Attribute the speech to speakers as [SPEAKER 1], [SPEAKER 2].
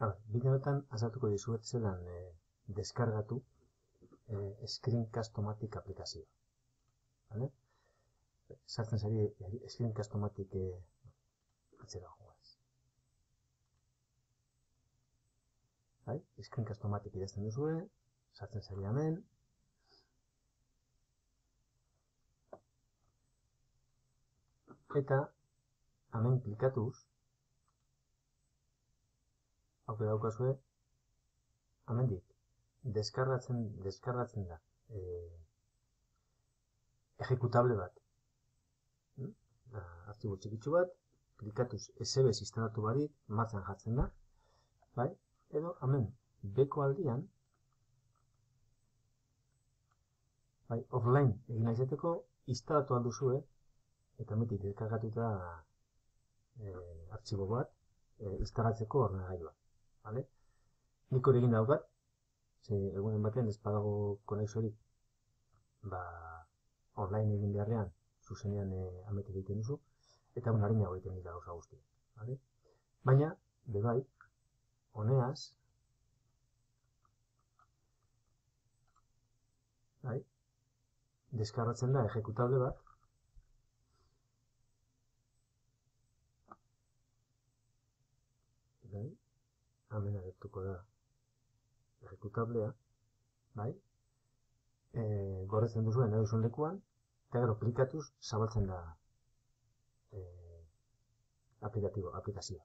[SPEAKER 1] Bide honetan azaltuko dizuet zelan deskargatu Screencast-O-Matic aplikazioa. Vale? Sartzen zari Screencast-O-Matic atzera joaz. Screencast-O-Matic idazten duzue, sartzen zari hemen. Eta hemen klikatuz, aukera daukazue, hemendik deskargatzen da ejecutable bat. Artxibo txikitsu bat, klikatuz SBS instalatu barik, martxan jartzen da. Edo hemen beko aldian, offline egin nahizeteko, instalatu alduzue, eta metik deskargatuta artxibo bat instalatzeko ordenagailua. Nik hori egin daukat, egunen batean ez badago konexiorik online egin beharrean, zuzenean ametik egiten duzu, eta harinago egiten dira gauza guztiak. Baina, bebai, honeaz, deskargatzen da ejecutable bat, hemen agertuko da ejecutablea, gordetzen duzuen nahi duzuen lekuan, eta gero klikatuz zabaltzen da aplikazioa.